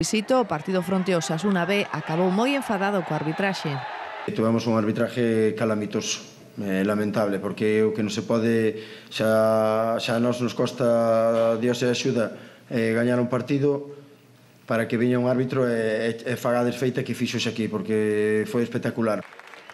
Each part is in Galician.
Visito, o partido fronte ao Osasuna B acabou moi enfadado co arbitraxe. Tivemos un arbitraje calamitoso, lamentable, porque o que non se pode, xa a nós nos costa, Dios e axuda, gañar un partido para que viña un árbitro e faga a desfeita que fixo aquí, porque foi espectacular.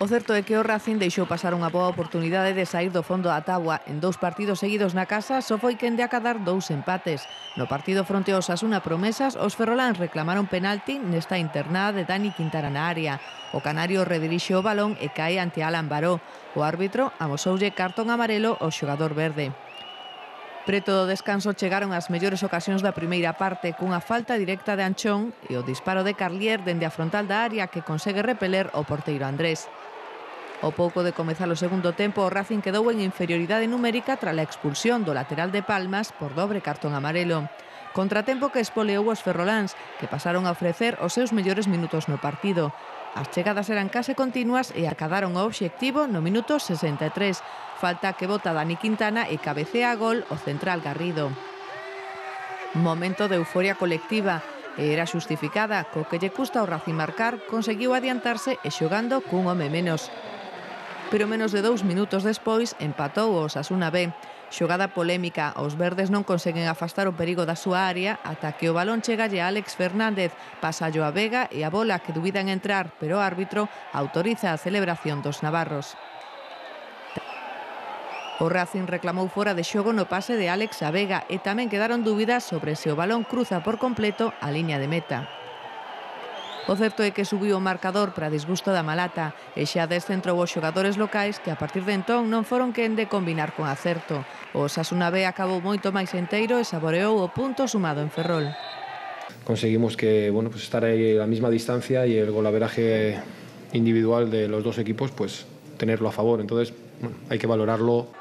O certo é que o Racing deixou pasar unha boa oportunidade de sair do fondo da táboa. En 2 partidos seguidos na casa só foi quen de acadar 2 empates. No partido fronte ao Osasuna Promesas, os ferroláns reclamaron penalti nesta internada de Dani Quintana na área. O canario redirixe o balón e cae ante Alan Baró. O árbitro amosoulle cartón amarelo ao xogador verde. Preto do descanso chegaron as mellores ocasións da primeira parte, cunha falta directa de Anchón e o disparo de Carlier dende a frontal da área que consegue repeler o porteiro Andrés. Ao pouco de comezar o segundo tempo, o Racing quedou en inferioridade numérica tras a expulsión do lateral de Palmas por dobre cartón amarelo. Contratempo que espoleou os ferroláns, que pasaron a ofrecer os seus mellores minutos no partido. As chegadas eran case continuas e acadaron o obxectivo no minuto 63. Falta que bota Dani Quintana e cabecea a gol o central Garrido. Momento de euforia colectiva. E era xustificada, co que lle custa ao Racing marcar, conseguiu adiantarse e xogando cun home menos. Pero menos de 2 minutos despois empatou o Osasuna B. Xogada polémica, os verdes non conseguen afastar o perigo da súa área ata que o balón chegalle a Álex Fernández, pasallo a Vega e a bola que dubidan entrar, pero o árbitro autoriza a celebración dos navarros. O Racing reclamou fora de xogo no pase de Álex a Vega e tamén quedaron dúbidas sobre se o balón cruza por completo a liña de meta. O certo é que subiu o marcador para disgusto da Malata e xa descentrou os xogadores locais que a partir de entón non foron quen de combinar con acerto. O Osasuna B acabou moito máis enteiro e saboreou o punto sumado en Ferrol. Conseguimos que, pues estar aí a la misma distancia y el golaveraje individual de los dos equipos, pues tenerlo a favor. Entonces, hay que valorarlo.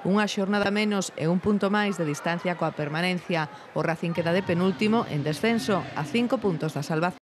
Unha xornada menos e un punto máis de distancia coa permanencia. O Racing queda de penúltimo en descenso a 5 puntos da salvación.